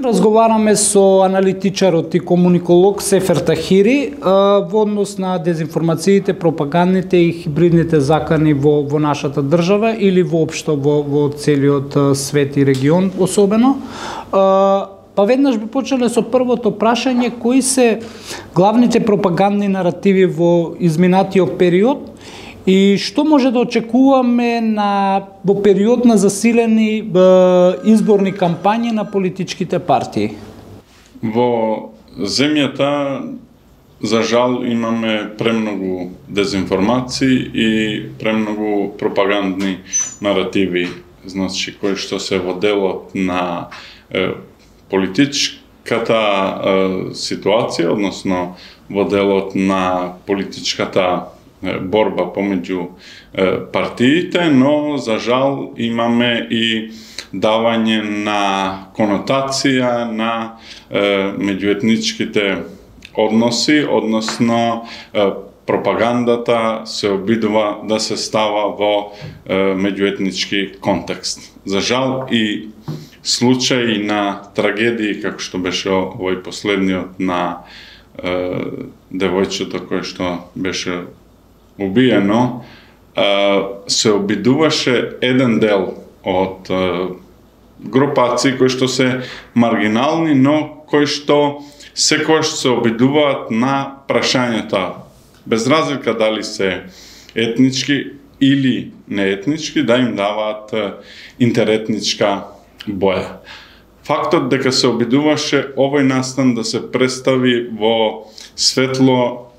Разговараме со аналитичарот и комуниколог Сефер Тахири во однос на дезинформациите, пропагандните и хибридните закани во нашата држава или воопшто во целиот свет и регион особено. Па веднаш би почеле со првото прашање: кои се главните пропагандни наративи во изминатиот период и што може да очекуваме во период на засилени изборни кампањи на политичките партии? Во земјата, за жал, имаме премногу дезинформации и премногу пропагандни наративи, значи кои што се во делот на политичката ситуација, односно во делот на политичката борба помеѓу партиите, но за жал имаме и давање на конотација на меѓуетничките односи, односно пропагандата се обидува да се става во меѓуетнички контекст. За жал и случаи на трагедии, како што беше овој последниот на девојчето кој што беше убиено, се обидуваше еден дел од групации кои што се маргинални, но кои што секогаш се обидуваат на прашањата, без разлика дали се етнички или неетнички, да им даваат интеретничка боја. Фактот дека се обидуваше овој настан да се представи во светло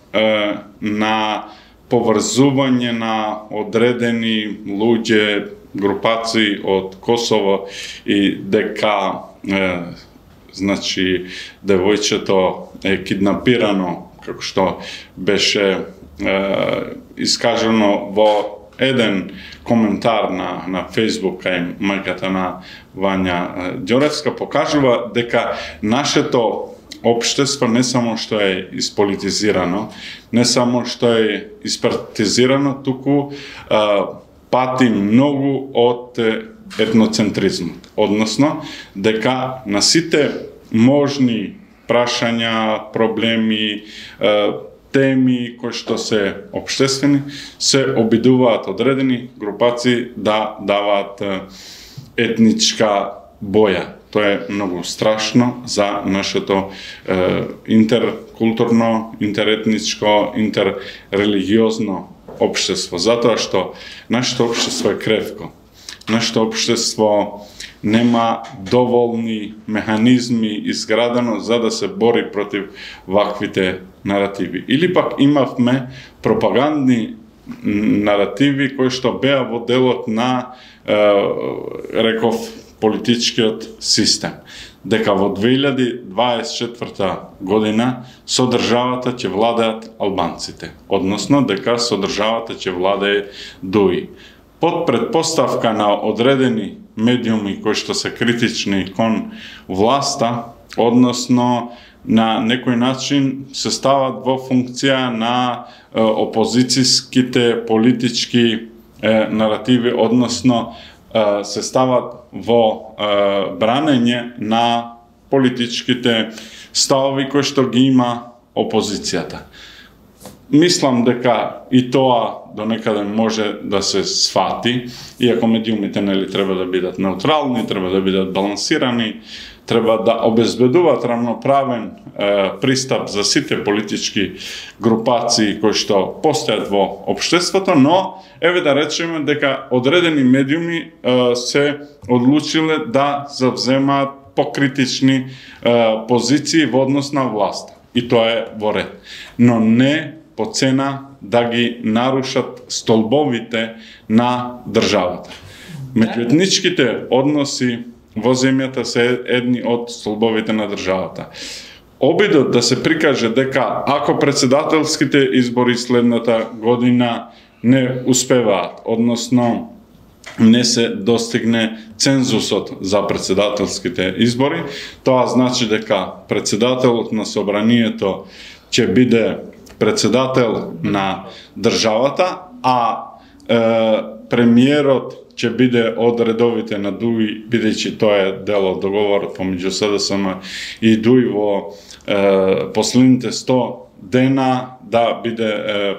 на поврзување на одредени луѓе, групации од Косово и дека значи девојчето е киднапирано, како што беше искажано во еден коментар на Facebook кај мајката на Вања Ѓоревска, покажува дека нашето општество не само што е исполитизирано, не само што е испартизирано, туку пати многу од етноцентризмот. Односно, дека на сите можни прашања, проблеми, теми кои што се општествени, се обидуваат одредени групации да даваат етничка боја. Тоа е многу страшно за нашето интеркултурно, интеретничко, интеррелигиозно општество. Затоа што нашето општество е кревко. Нашето општество нема доволни механизми изградено за да се бори против ваквите наративи. Или пак имавме пропагандни наративи кои што беа во делот на, реков, политичкиот систем. Дека во 2024 година со државата ќе владеат албанците, односно дека со државата ќе владее ДУИ. Под предпоставка на одредени медиуми кои што се критични кон власта, односно на некој начин се стават во функција на опозицијските политички наративи, односно се стават во бранење на политичките ставови кои што ги има опозицијата. Мислам дека и тоа до некаде може да се сфати, иако медиумите нели треба да бидат неутрални, треба да бидат балансирани, треба да обезбедуваат рамноправен пристап за сите политички групации кои што постојат во општеството, но еве да речеме дека одредени медиуми се одлучиле да завземаат покритични позиции во однос на власта. И тоа е во ред. Но не по цена да ги нарушат столбовите на државата. Меѓуетничките односи во земјата се едни од столбовите на државата. Обидот да се прикаже дека ако председателските избори следната година не успеваат, односно не се достигне цензусот за председателските избори, тоа значи дека председателот на собранието ќе биде председател на државата, а премиерот ќе биде од редовите на ДУИ, бидејќи тоа е дел од договорот помеѓу СДСМ и ДУИ во последните 100 дена да биде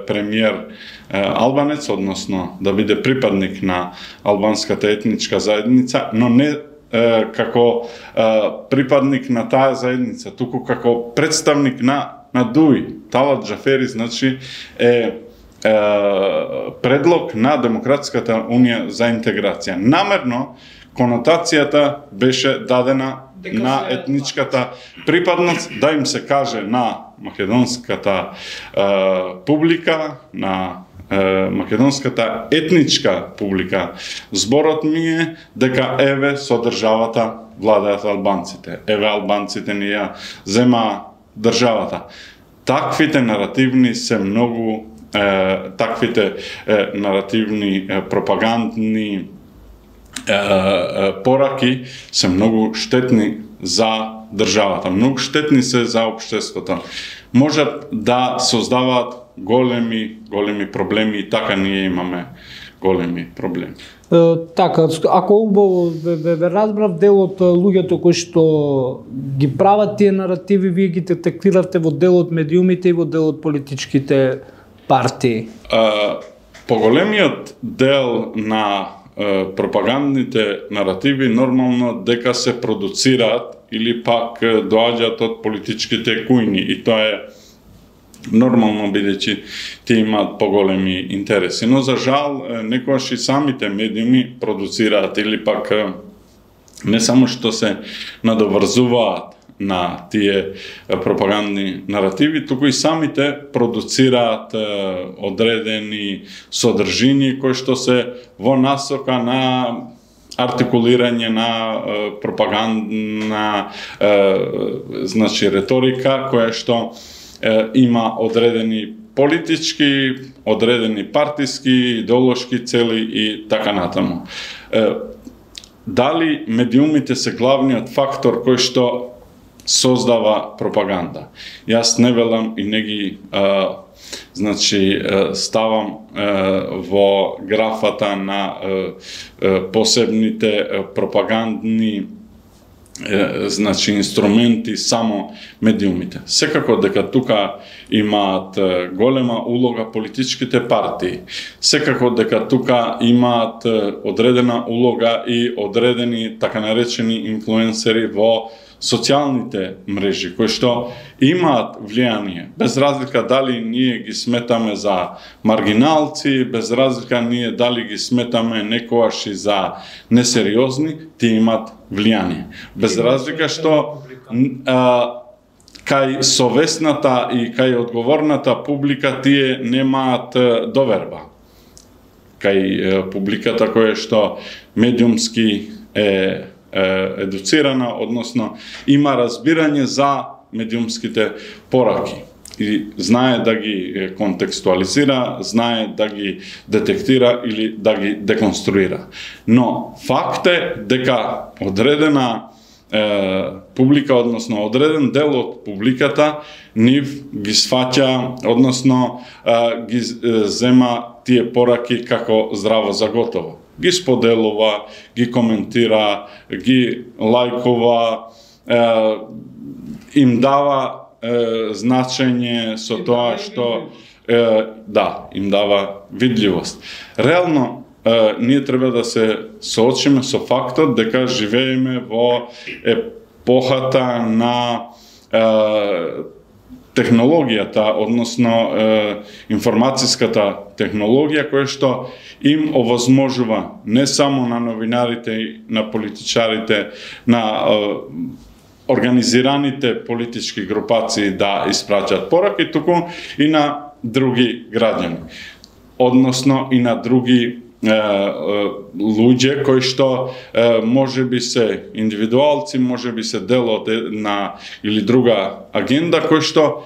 премиер албанец, односно да биде припадник на албанската етничка заедница, но не како припадник на таа заедница, туку како представник на ДУИ. Талат Џафери, значи, е предлог на Демократската унија за интеграција. Намерно, конотацијата беше дадена на етничката припадност, да им се каже на македонската публика, на македонската етничка публика. Зборот ми е дека еве со државата владеат албанците. Еве албанците ни ја зема државата. Таквите наративни се многу таквите наративни пропагандни пораки се многу штетни за државата, многу штетни се за општеството. Можат да создаваат големи проблеми и така ние имаме големи проблеми. Така, ако убаво ве разбрав, дел од луѓето кои што ги прават тие наративи, вие ги детектиравте во дел од медиумите и во дел од политичките партии? Поголемиот дел на пропагандните наративи нормално дека се продуцираат или пак доаѓаат од политичките кујни, и тоа е нормално, бидејќи тие имаат поголеми интереси. Но за жал некогаш и самите медиуми продуцираат или пак не само што се надоврзуваат на тие пропагандни наративи, туку и самите продуцираат одредени содржини кои што се во насока на артикулирање на пропагандна значи реторика која што има одредени политички, одредени партиски, идеолошки цели и така натаму. Дали медиумите се главниот фактор кој што создава пропаганда? Јас не велам и не ги значи ставам во графата на посебните пропагандни значи инструменти само медиумите. Секако дека тука имаат голема улога политичките партии. Секако дека тука имаат одредена улога и одредени така наречени инфлуенсери во социјалните мрежи, кои што имаат влијание, без разлика дали ние ги сметаме за маргиналци, без разлика ние дали ги сметаме некојаш и за несериозни, тие имаат влијание. Без разлика што кај совесната и кај одговорната публика тие немаат доверба. Кај публиката која што медиумски е едуцирана, односно има разбирање за медиумските пораки и знае да ги контекстуализира, знае да ги детектира или да ги деконструира. Но факт е дека одредена публика, односно одреден дел од публиката нив ги сваќа, односно ги зема тие пораки како здраво за готово. Ги споделува, ги коментира, ги лајкува, им дава значење со тоа што им дава видливост. Реално ние треба да се соочиме со фактот дека живееме во епохата на технологијата, односно информацијската технологија, која што им овозможува не само на новинарите, на политичарите, на организираните политички групации да испраќаат пораки, туку и на други граѓани. Односно и на други луѓе кои што може би се индивидуалци, може би се дел од една или друга агенда, кои што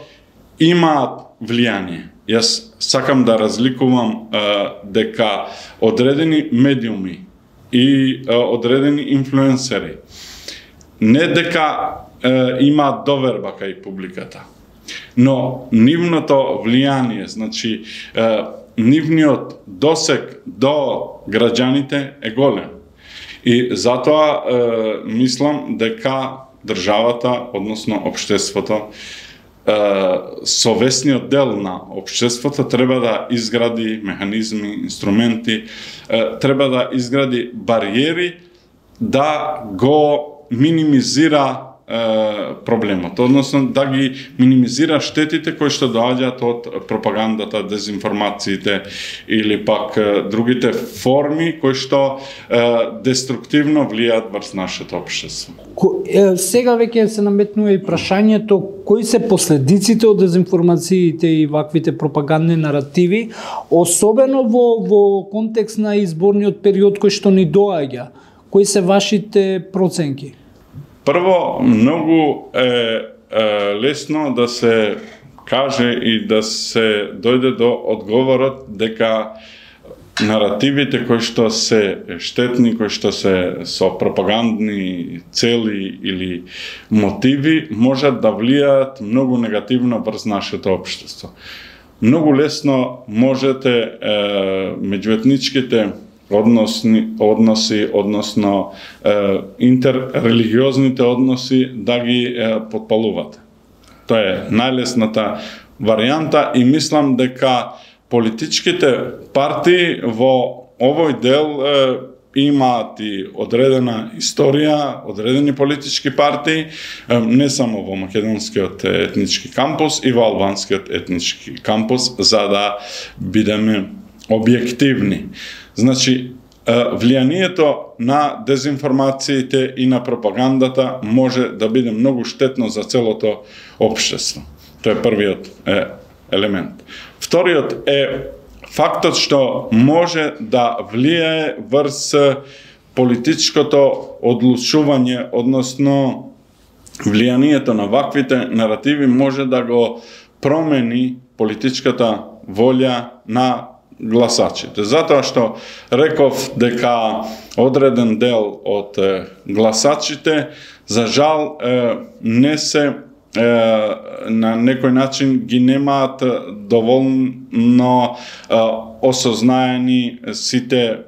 имаат влијание. Јас сакам да разликувам дека одредени медиуми и одредени инфлуенсери не дека имаат доверба кај публиката, но нивното влијание, значи нивниот досег до граѓаните е голем. И затоа мислам дека државата, односно општеството, совесниот дел на општеството треба да изгради механизми, инструменти, треба да изгради бариери да го минимизира проблемот, односно да ги минимизира штетите кои што доаѓаат од пропагандата, дезинформациите или пак другите форми кои што деструктивно влијаат врз нашето општество. Сега веќе се наметнува и прашањето кои се последиците од дезинформациите и ваквите пропагандни наративи, особено во контекст на изборниот период кој што ни доаѓа. Кои се вашите проценки? Прво, многу е лесно да се каже и да се дојде до одговорот дека наративите кои што се штетни, кои што се со пропагандни цели или мотиви, можат да влијаат многу негативно врз нашето општество. Многу лесно можете меѓуетничките односи, односно интеррелигиозните односи да ги подпалувате. Тоа е најлесната варијанта и мислам дека политичките партии во овој дел имаат и одредена историја, одредени политички партии, не само во македонскиот етнички кампус и во албанскиот етнички кампус, за да бидеме објективни. Значи, влијанието на дезинформациите и на пропагандата може да биде многу штетно за целото општество. Тоа е првиот елемент. Вториот е фактот што може да влијае врз политичкото одлучување, односно влијанието на ваквите наративи може да го промени политичката волја на гласачите. Затоа што реков дека одреден дел од гласачите за жал не се на некој начин ги немаат доволно осознаени сите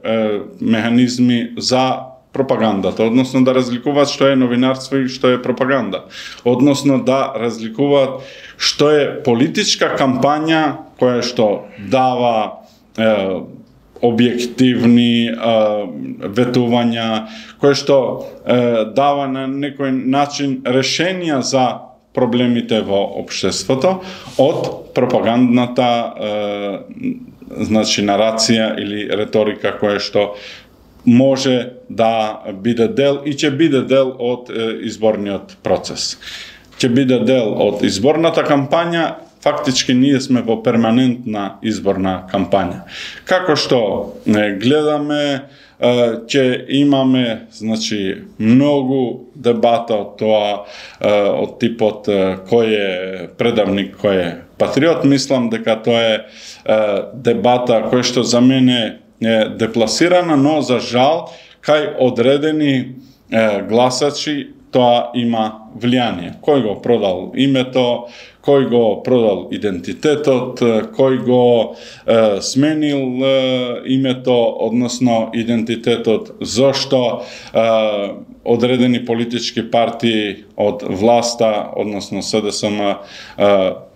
механизми за пропагандата, односно да разликуваат што е новинарство и што е пропаганда, односно да разликуваат што е политичка кампања која што дава објективни ветувања, кој што дава на некој начин решенија за проблемите во општеството од пропагандната значи нарација или реторика која што може да биде дел и ќе биде дел од изборниот процес. Ќе биде дел од изборната кампања. Фактички ние сме во перманентна изборна кампања. Како што гледаме, ќе имаме значи многу дебата од тоа од типот кој е предавник, кој е патриот. Мислам дека тоа е дебата која што за мене е депласирана, но за жал кај одредени гласачи тоа има влијание. Кој го продал името, кој го продал идентитетот, кој го сменил името, односно идентитетот, зошто одредени политички партии од власта, односно СДСМ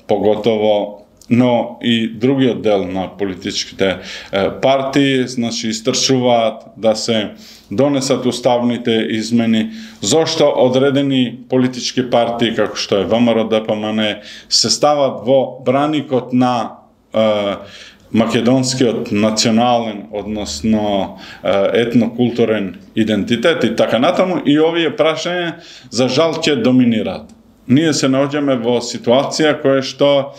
поготово, но и другиот дел на политичките партии, значи истрчуваат да се донесат уставните измени, зошто одредени политички партии, како што е ВМРО, ДПМН, се стават во браникот на македонскиот национален, односно етнокултурен идентитет и така натаму, и овие прашања за жал ќе доминираат. Ние се наоѓаме во ситуација која што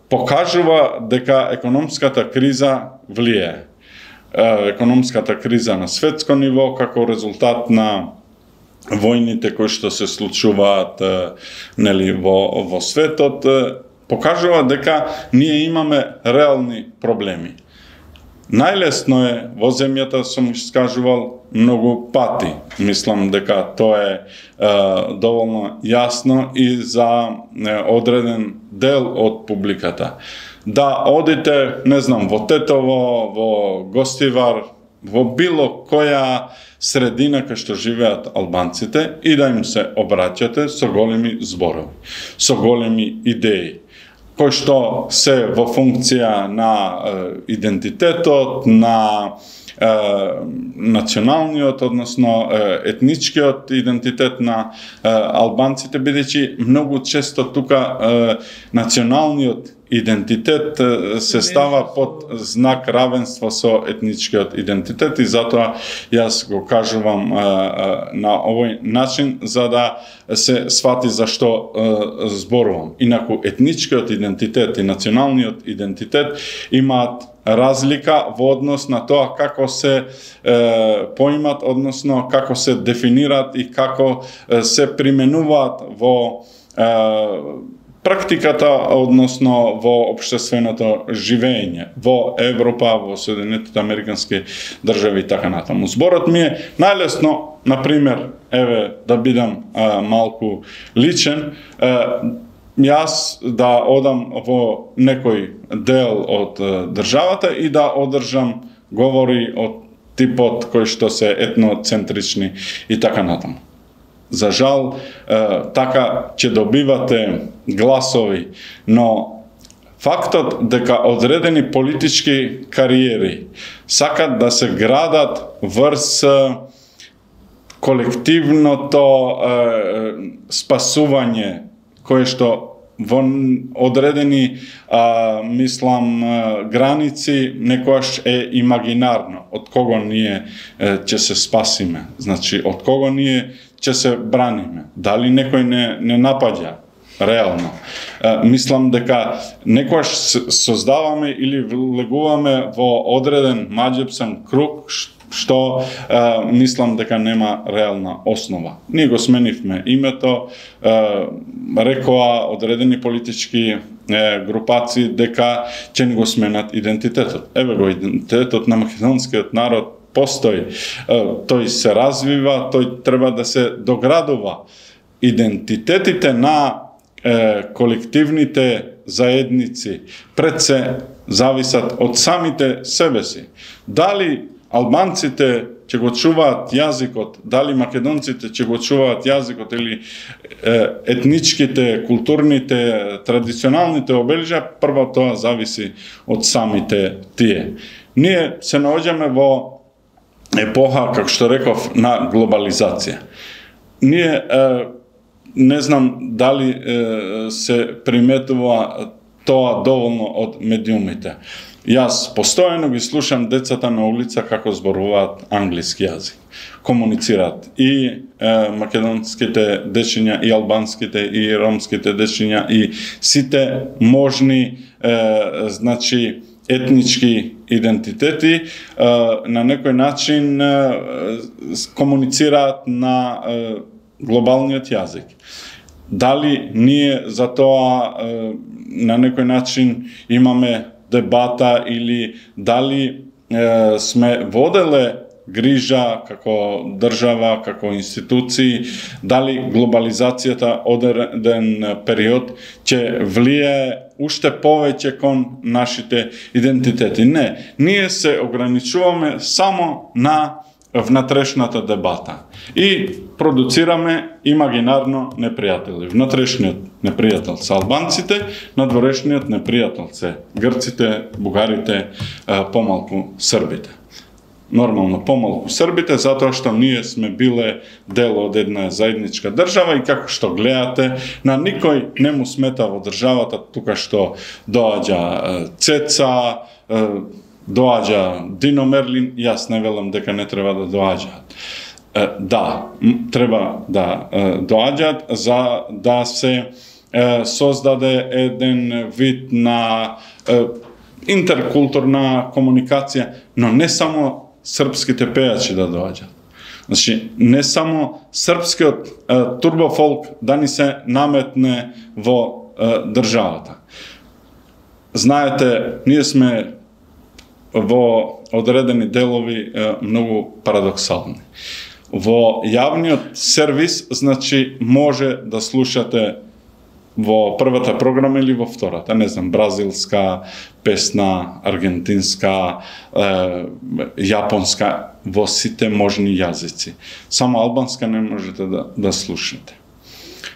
покажува дека економската криза влијае. Економската криза на светско ниво како резултат на војните кои што се случуваат нели во светот покажува дека ние имаме реални проблеми. Најлесно е во земјата, сум скажувал многу пати. Мислам дека тоа е доволно јасно и за одреден дел од публиката. Да одите, не знам, во Тетово, во Гостивар, во било која средина кај што живеат албанците и да им се обраќате со големи зборови, со големи идеи, кои што се во функција на идентитетот, на националниот, односно етничкиот идентитет на албанците, бидејќи многу често тука националниот идентитет се става под знак равенство со етничкиот идентитет и затоа јас го кажувам на овој начин за да се свати за што зборувам. Инаку етничкиот идентитет и националниот идентитет имаат разлика во однос на тоа како се поимат, односно како се дефинираат и како се применуваат во практиката, односно во општественото живење во Европа, во Соединетите Американски држави и така натаму. Зборот ми е најлесно, например, еве да бидам малку личен, јас да одам во некој дел од државата и да одржам говори од типот кои што се етноцентрични и така натаму. За жал, така ќе добивате гласови, но фактот дека одредени политички кариери сакат да се градат врз колективното спасување, кое што во одредени, мислам, граници некојаш е имагинарно. Од кого ние ќе се спасиме? Значи, од кого ние ќе се браниме? Дали некој не напаѓа? Реално. Мислам дека некојаш создаваме или влегуваме во одреден маџепсан круг, што мислам дека нема реална основа. Ние го сменивме името, рекоа одредени политички групации дека ќе ни го сменат идентитетот. Еве го идентитетот на македонскиот народ постои, тој се развива, тој треба да се доградува. Идентитетите на колективните заедници пред се зависат од самите себе си. Дали албанците ќе го чуваат јазикот, дали македонците ќе го чуваат јазикот или етничките, културните, традиционалните обележја, прво тоа зависи од самите тие. Ние се наоѓаме во епоха, како што реков, на глобализација. Ние не знам дали се приметува тоа доволно од медиумите. Јас постојано ги слушам децата на улица како зборуваат англиски јазик. Комуницираат и македонските дечиња, и албанските, и ромските дечиња, и сите можни значи етнички идентитети на некој начин комуницираат на глобалниот јазик. Дали ние за тоа на некој начин имаме дебата или дали сме воделе грижа како држава, како институции, дали глобализацијата одреден период ќе влие уште повеќе кон нашите идентитети. Не, ние се ограничуваме само на внатрешната дебата и продуцираме имагинарно непријатели. Внатрешниот непријател се албанците, надворешниот непријател се грците, бугарите, помалку србите. Нормално помалку србите, затоа што ние сме биле дел од една заедничка држава и како што гледате, на никој не му смета во државата тука што доаѓа Цеца, доаѓа Дино Мерлин, јас не велам дека не треба да доаѓаат. Да, треба да доаѓаат за да се создаде еден вид на интеркултурна комуникација, но не само српските пејачи да доаѓаат. Значи, не само српскиот турбофолк да ни се наметне во државата. Знаете, ние сме во одредени делови многу парадоксални. Во јавниот сервис, значи, може да слушате во првата програма или во втората, не знам, бразилска песна, аргентинска, јапонска, во сите можни јазици. Само албанска не можете да слушате.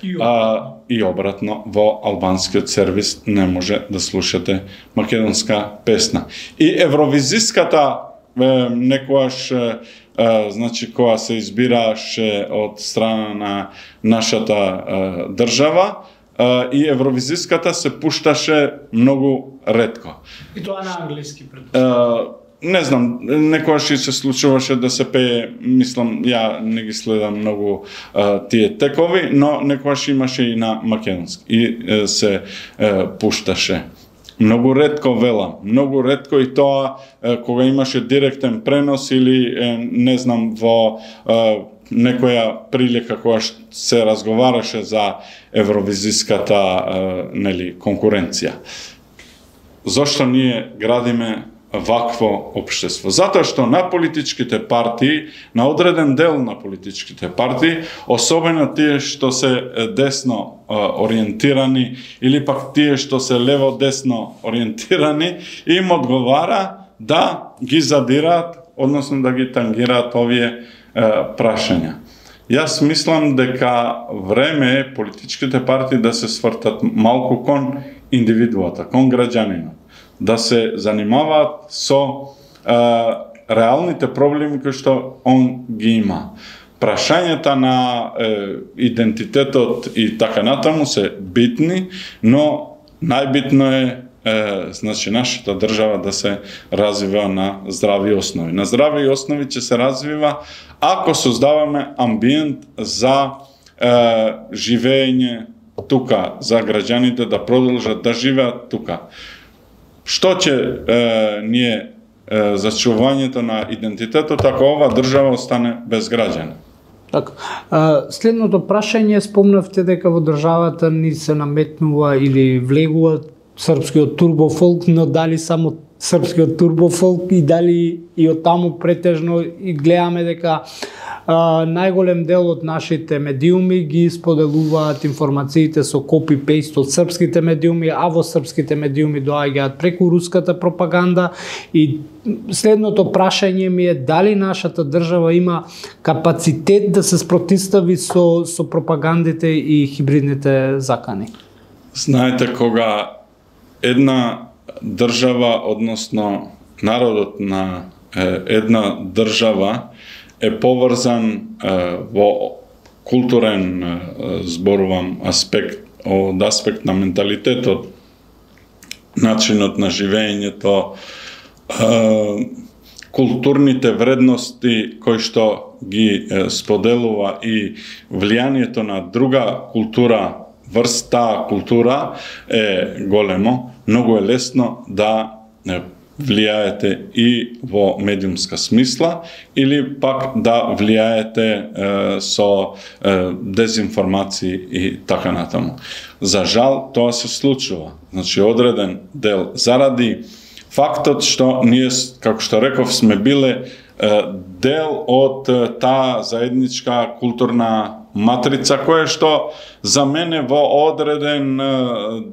И обратно, во албанскиот сервис не може да слушате македонска песна. И евровизиската некојаш, значи, која се избираше од страна на нашата држава, и евровизиската се пушташе многу ретко. И тоа на англиски не знам, некојаш и се случуваше да се пее, мислам, ја не ги следам многу тие текови, но некојаш имаше и на македонски и се пушташе. Многу ретко, велам, многу ретко, и тоа кога имаше директен пренос или не знам, во некоја прилика кога се разговараше за евровизиската конкуренција. Зошто ние градиме вакво општество? Затоа што на политичките партии, на одреден дел на политичките партии, особено тие што се десно ориентирани или пак тие што се лево-десно ориентирани, им одговара да ги задираат, односно да ги тангираат овие прашања. Јас мислам дека време е политичките партии да се свртат малку кон индивидуата, кон граѓанинот, да се занимаваат со реалните проблеми кои што он ги има. Прашањата на идентитетот и така натаму се битни, но најбитно е значи нашата држава да се развива на здрави основи. На здрави основи ќе се развива ако создаваме амбиент за живење тука, за граѓаните да продолжат да живеат тука. Што ќе ние зачувањето на идентитетот ако ова држава остане без граѓани? Така. Следното прашање, спомнавте дека во државата ни се наметнува или влегува српскиот турбофолк, но дали само српскиот турбофолк и дали и од таму претежно и гледаме дека најголем дел од нашите медиуми ги споделуваат информациите со копи-пейст од српските медиуми, а во српските медиуми доаѓаат преку руската пропаганда. И следното прашање ми е дали нашата држава има капацитет да се спротистави со пропагандите и хибридните закани. Знаете, кога една држава, односно народот на една држава е поврзан во културен, зборувам, аспект, од аспект на менталитетот, начинот на живењето, културните вредности кои што ги споделува и влијанието на друга култура, врста култура е големо, многу е лесно да влијаете и во медиумска смисла или пак да влијаете со дезинформации и така натаму. За жал, тоа се случува. Значи, одреден дел, заради фактот што ние, како што реков, сме биле дел од таа заедничка културна матрица, која што за мене во одреден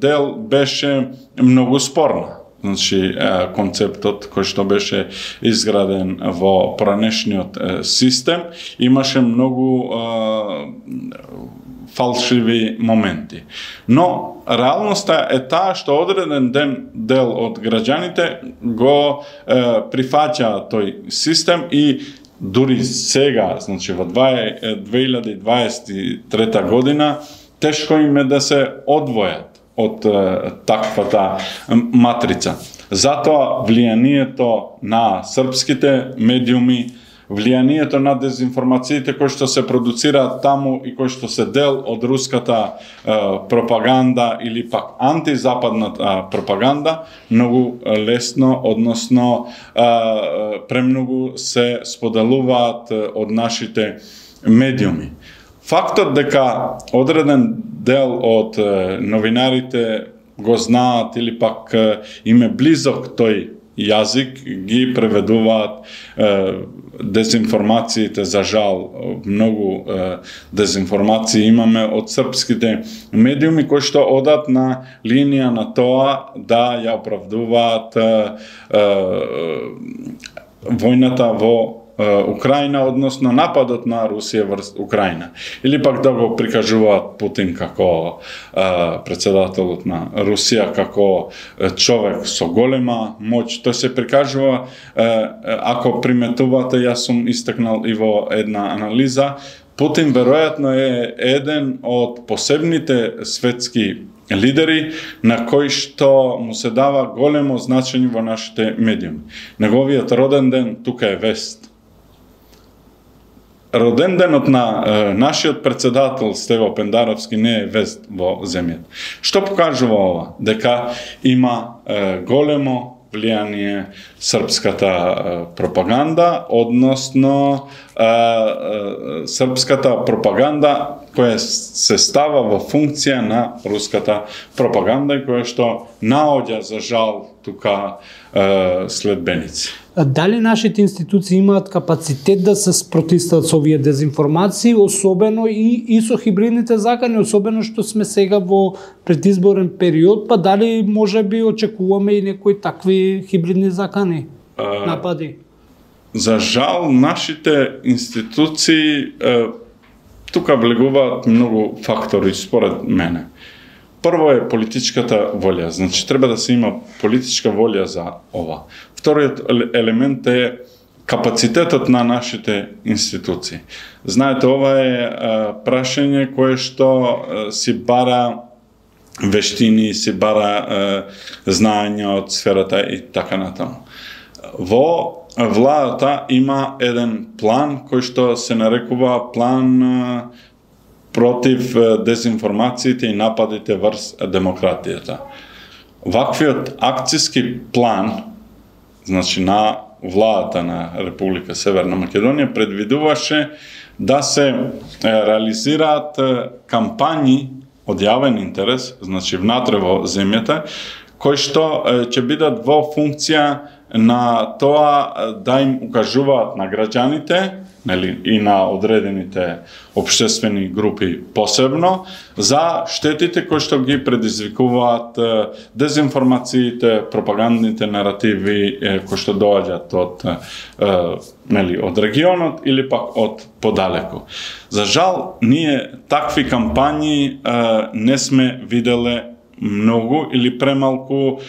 дел беше многу спорна. Значи, концептот кој што беше изграден во поранешниот систем имаше многу фалшиви моменти. Но реалноста е таа што одреден дел од граѓаните го прифаќа тој систем и дури сега, значи во 2023 година, тешко им е да се одвојат од таквата матрица. Затоа влијанието на српските медиуми, влијанието на дезинформациите кои што се продуцираат таму и кои што се дел од руската пропаганда или пак антизападната пропаганда, многу лесно, односно премногу се споделуваат од нашите медиуми. Фактот дека одреден дел од новинарите го знаат или пак им е близок тој јазик ги преведуваат дезинформациите, за жал, многу дезинформации имаме од српските медиуми кои што одат на линија на тоа да ја оправдуваат војната во Украина, односно нападот на Русија врз Украина. Или пак да го прикажуваат Путин како председателот на Русија, како човек со голема моќ. Тој се прикажува, ако приметувате, јас сум истакнал и во една анализа, Путин веројатно е еден од посебните светски лидери на кои што му се дава големо значење во нашите медиуми. Неговиот роден ден тука е вест. Роден денот на нашиот председател Стево Пендаровски не е вест во земјата. Што покажува ова? Дека има големо влијание српската пропаганда, односно српската пропаганда која се става во функција на руската пропаганда и која што наоѓа за жал тука следбеници. Дали нашите институции имаат капацитет да се спротивстават со овие дезинформации, особено и со хибридните закани, особено што сме сега во предизборен период, па дали може би очекуваме и некои такви хибридни закани, напади? За жал, нашите институции тука влегуваат многу фактори според мене. Прво е политичката волја, значи треба да се има политичка волја за ова. Вториот елемент е капацитетот на нашите институции. Знаете, ова е прашање кое што си бара вештини, си бара знаења од сферата и така натаму. Во владата има еден план кој што се нарекува план против дезинформациите и нападите врз демократијата. Ваквиот акцијски план, значи на владата на Република Северна Македонија, предвидуваше да се реализираат кампањи од јавен интерес, значи внатре во земјата, кои што ќе бидат во функција на тоа да им укажуваат на граѓаните, нели, и на одредените општествени групи посебно, за штетите кои што ги предизвикуваат дезинформациите, пропагандните наративи кои што доаѓаат од нели, од регионот или пак од подалеку. За жал, ние такви кампањи не сме виделе многу или премалку,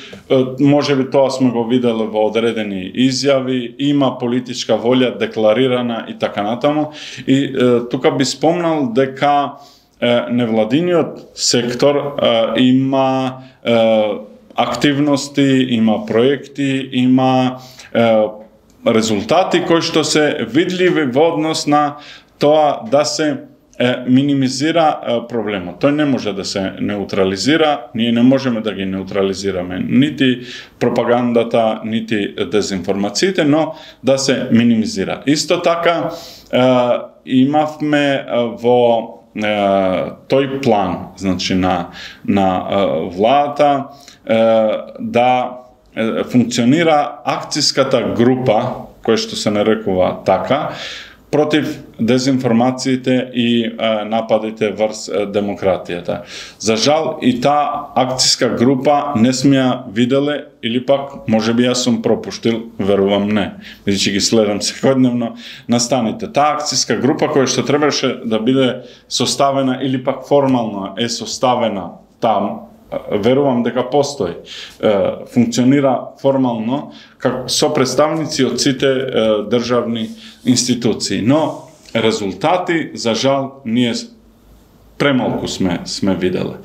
може би тоа сме го виделе во одредени изјави, има политичка волја декларирана и така натаму. И тука би спомнал дека невладиниот сектор има активности, има проекти, има резултати кои што се видливи во однос на тоа да се минимизира проблемот. Тој не може да се неутрализира, ние не можеме да ги неутрализираме нити пропагандата, нити дезинформациите, но да се минимизира. Исто така имавме во тој план, значи на владата да функционира акцијската група, која што се нарекува така, против дезинформациите и нападите врз демократијата. За жал, и таа акцијска група не сме ја виделе, или пак, може би јас сум пропуштил, верувам не, бидејќи ги следам секојдневно на станите. Таа акцијска група која што требаше да биде составена, или пак формално е составена там, верувам дека постои, функционира формално со представници од сите државни институции. Но резултати, за жал, ние премалку сме виделе.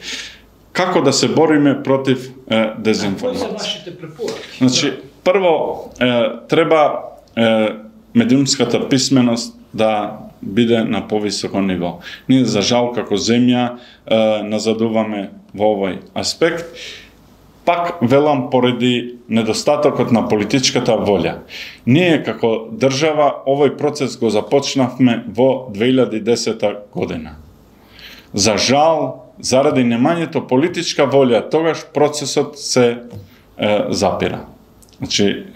Како да се бориме против дезинформација? Кои се вашите препораки? Значи, прво, треба медиумската писменост да биде на повисоко ниво. Ние, за жал, како земја, назадуваме во овој аспект. Пак велам поради недостатокот на политичката волја. Ние како држава овој процес го започнавме во 2010 година. За жал, заради немањето политичка волја, тогаш процесот се запира. Значи,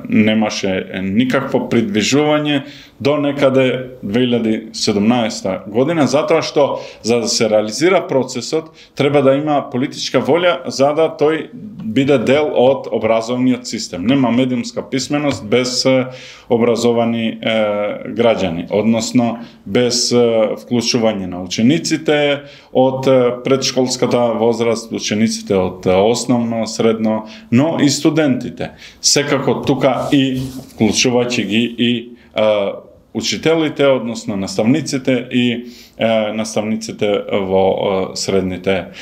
немаше никакво придвижување до некаде 2017 година, затоа што за да се реализира процесот треба да има политичка волја за да тој биде дел од образовниот систем. Нема медиумска писменост без образовани граѓани, односно без вклучување на учениците од предшколската возраст, учениците од основно, средно, но и студентите. Секако тука и вклучувајќи ги и учителите, односно наставниците и наставниците во средните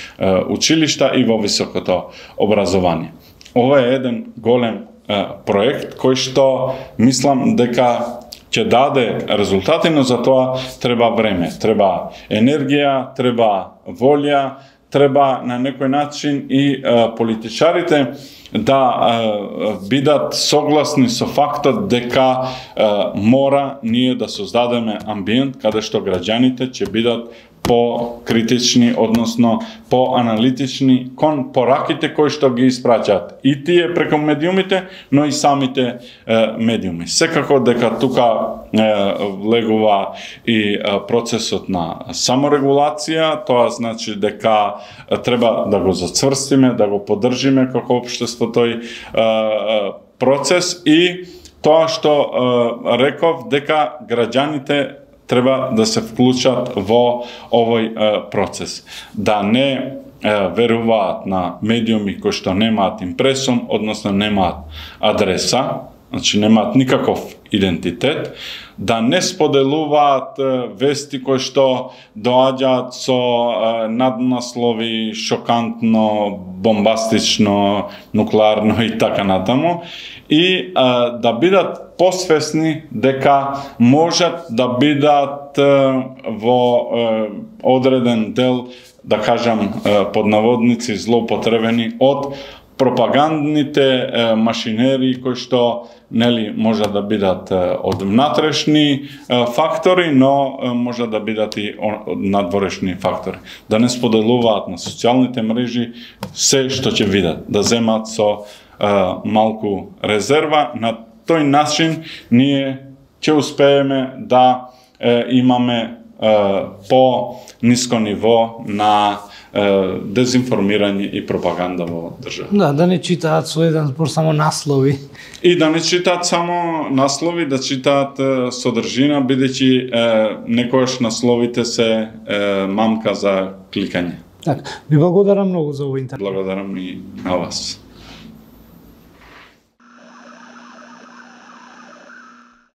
училишта и во високото образование. Ова е еден голем проект кој што мислам дека ќе даде резултати, но за тоа треба време, треба енергија, треба волја, треба на некој начин и политичарите да бидат согласни со фактот дека мора ние да создадеме амбиент каде што граѓаните ќе бидат по-критични, односно по-аналитични кон пораките кои што ги испраќаат и тие преку медиумите, но и самите медиуми. Секако дека тука влегува и процесот на саморегулација, тоа значи дека треба да го зацврстиме, да го поддржиме како општество тој процес и тоа што реков дека граѓаните треба да се вклучат во овој процес. Да не веруваат на медиуми кои што немаат импресум, односно немаат адреса, значи немаат никаков идентитет, да не споделуваат вести кои што доаѓаат со наднаслови шокантно, бомбастично, нуклеарно и така натаму, и да бидат посвесни дека можат да бидат во одреден дел, да кажам под наводници, злоупотребени од пропагандните машинери кои што може да бидат од внатрешни фактори, но може да бидат и од надворешни фактори. Да не споделуваат на социјалните мрежи се што ќе видат, да земат со малку резерва. На тој начин ние ќе успееме да имаме по-ниско ниво на дезинформирање и пропаганда во држава. Да не читаат со еден збор само наслови. И да не читаат само наслови, да читаат содржина, бидејќи некојаш насловите се мамка за кликање. Так, ви благодарам многу за овој интервју. Благодарам и на вас.